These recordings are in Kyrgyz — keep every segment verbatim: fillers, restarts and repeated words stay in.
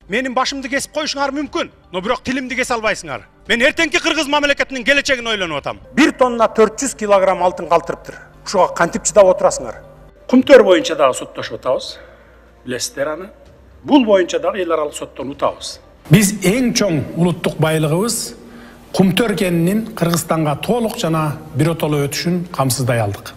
Менин башымды кесип коюшуңар мүмкүн, но бирок тилимди кесе албайсыңар. Мен эртеңки кыргыз мамлекетинин келечегин ойлонуп атам. бир тонна төрт жүз килограмм алтын калтырыптыр. Ушуга кантип чыдап отурасыңар? Кумтөр боюнча дагы соттошуп атабыз. Билесиздер аны. Бул боюнча дагы эл аралык соттон утабыз. Биз эң чоң улуттук байлыгыбыз Кумтөр кенинин Кыргызстанга толук жана биротоло өтүшүн камсыздай алдык.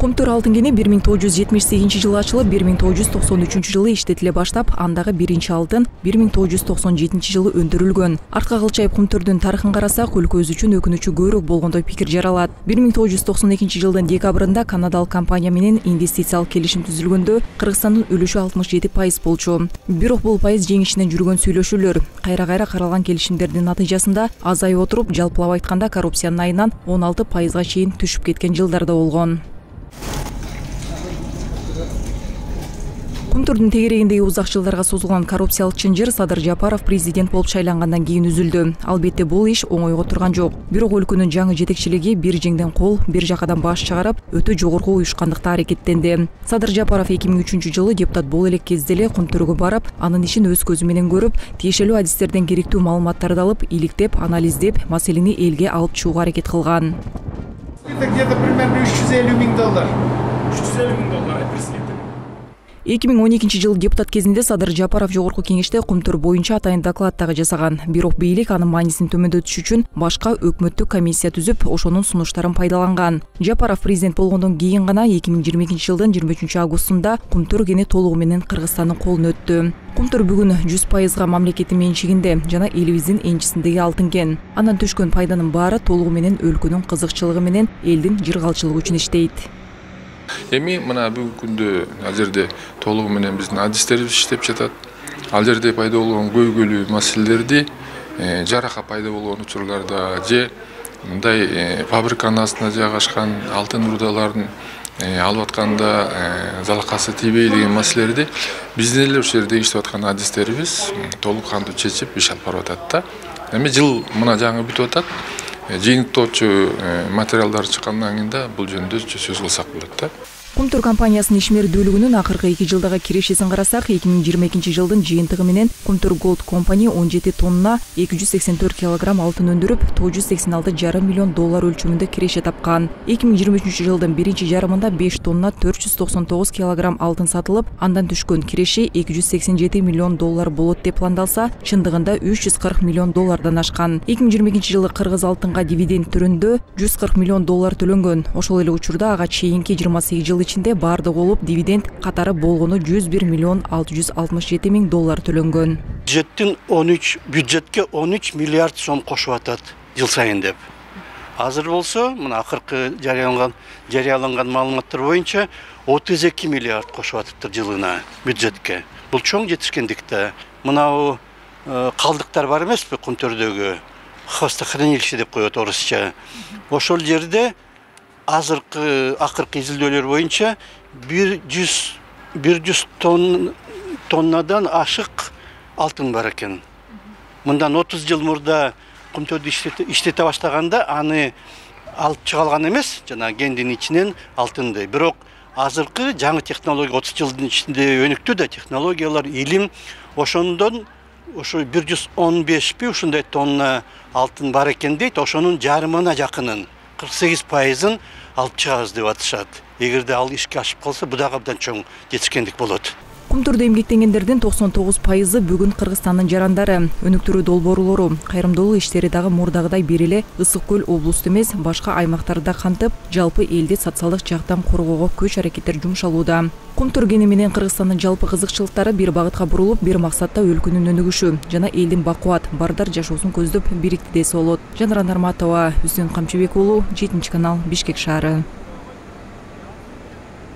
Кумтөр алтын кени бир миң тогуз жүз жетимиш сегизинчи жылы ачылып, бир миң тогуз жүз токсон үчүнчү жылы иштетиле баштап, андагы биринчи алтын бир миң тогуз жүз токсон жетинчи жылы өндүрүлгөн. Артка кылчайып Кумтөрдүн тарыхын карасак, өлкөбүз үчүн өкүнүчү көбүрөөк болгондой пикир жаралат. бир миң тогуз жүз токсон экинчи жылдын декабрында канадалык компания менен инвестициялык келишим түзүлгөндө Кыргызстандын үлүшү алтымыш жети пайыз болчу. Бирок бул пайыз жеңишинен жүргөн сүйлөшүүлөр. Кайра-кайра каралган келишимдердин натыйжасында азайып отуруп, жалпылап айтканда коррупциянын айынан он алты пайызга чейин түшүп кеткен жылдар да болгон. Кумтөрдүн тегерегиндеги узак жылдарга созулган коррупциялык чынжыр Садыр Жапаров президент болуп шайлангандан кийин үзүлдү. Албетте бул иш оңойго турган жок. Бирок өлкөнүн жаңы жетекчилиги бир жеңден кол, бир жакадан баш чыгарып, өтө жогорку уюшкандыкта аракеттенди. Садыр Жапаров эки миң үчүнчү жылы депутат боло элек кезде эле Кумтөргө барып, анын ишин өз көзү менен көрүп, тиешелүү адистерден керектүү маалыматтарды алып, иликтеп, анализдеп, маселени элге алып чыгууга аракет кылган. Где-то примерно үч жүз элүү миң доллар. үч жүз элүү миң доллар айтырсыз. эки миң он экинчи жылы депутат кезинде Садыр Жапаров жогорку кеңеште Кумтөр боюнча атайын доклад дагы жасаган. Бирок бийлик анын маанисин төмөндөтүш үчүн башка өкмөттүк комиссия түзүп, ошонун сунуштарын пайдаланган. Жапаров президент болгондон кийин гана эки миң жыйырма экинчи жылдын жыйырма үчүнчү августунда Кумтөр кени толугу менен Кыргызстандын колуна өттү. Кумтөр бүгүн жүз пайызга мамлекеттин менчигинде жана элибиздин энчисиндеги алтын кен. Андан түшкөн пайданын баары толугу менен өлкөнүн кызыкчылыгы менен элдин жыргалчылыгы үчүн иштейт. Эми мына бүгүнкү күндө ал жерде толугу менен биздин адистерибиз иштеп жатат. Ал жерде пайда болгон көйгөйлүү маселелерди жарака пайда болгон учурларда же мындай фабриканын астына жайгашкан алтын рудаларын алып атканда залакасы тийбей деген маселелерди биздин эле ошол жерде иштеп аткан адистерибиз толук кандуу чечип иш алып барып атат да. Эми жыл мына жаңы бүтүп атат. Жыйынтоочу материалдар чыккандан кийин да бул жөнүндө сөз кылсак болот да. Кумтөр компаниясынын ишмердүүлүгүнүн акыркы эки жылдагы кирешесин карасак, эки миң жыйырма экинчи жылдын жыйынтыгы менен Кумтөр Gold Company он жети тонна эки жүз сексен төрт килограмм алтын өндүрүп, тогуз жүз сексен алты жарым миллион доллар өлчөмүндө киреше тапкан. эки миң жыйырма үчүнчү жылдын биринчи жарымында беш тонна төрт жүз токсон тогуз килограмм алтын сатылып, андан түшкөн киреше эки жүз сексен жети миллион доллар болот деп пландалса, чындыгында үч жүз кырк миллион доллардан ашкан. эки миң жыйырма экинчи жылы кыргыз алтынга дивиденд түрүндө жүз кырк миллион доллар төлөнгөн. Ошол эле учурда ага чейинки жыйырма сегиз жыл ичинде бардыгы болуп дивиденд катары болгону жүз бир миллион алты жүз алтымыш жети миң доллар төлөнгөн. Бюджеттин он үч бюджетке он үч миллиард сом кошуп атат жыл сайын деп. Азыр болсо, мына акыркы жарыяланган жарыяланган маалыматтар боюнча отуз эки миллиард кошуп атыптыр жылына бюджетке. Бул чоң жетишкендик да. Мына калдыктар бар эмеспи Кумтөрдөгү? Хвостохранилище деп коет орусча. Ошол жерде азыркы акыркы изилдөөлөр боюнча бир жүз тоннадан ашык алтын бар экен. Мындан отуз жыл мурда Кумтөрдү иштете баштаганда аны алып чыга алган эмес, жана кендин ичинен алтынды. Бирок азыркы жаңы технология отуз жылдын ичинде өнүктү да, технологиялар, илим, ошондон ошо бир жүз он бешпи ушундай тонна алтын бар экен дейт. Ошонун жарымына жакынын кырк сегиз пайызын алып чыгабыз деп атышат. Эгерде ал ишке ашып калса, бу дагы абдан чоң жетишкендик болот. Кумтөрдө эмгектенгендердин токсон тогуз пайызы бүгүн Кыргызстандын жарандары, өнүктүрүү долбоорлору, кайрымдуулук иштери дагы мурдагыдай бир эле Ысык көл облусту эмес, башка аймактарда кантып, жалпы элди социалдык жактан коргоого күч аракеттер жумшалууда. Кумтөр кени менен Кыргызстандын жалпы кызыкчылыктары бир багытка бурулуп, бир максатта өлкөнүн өнүгүшү жана элдин бакубат, бардар жашоосун көздөп бирикти десе болот. Жанара Нарматова, Үсөн Камчыбек уулу, жетинчи канал, Бишкек шаары.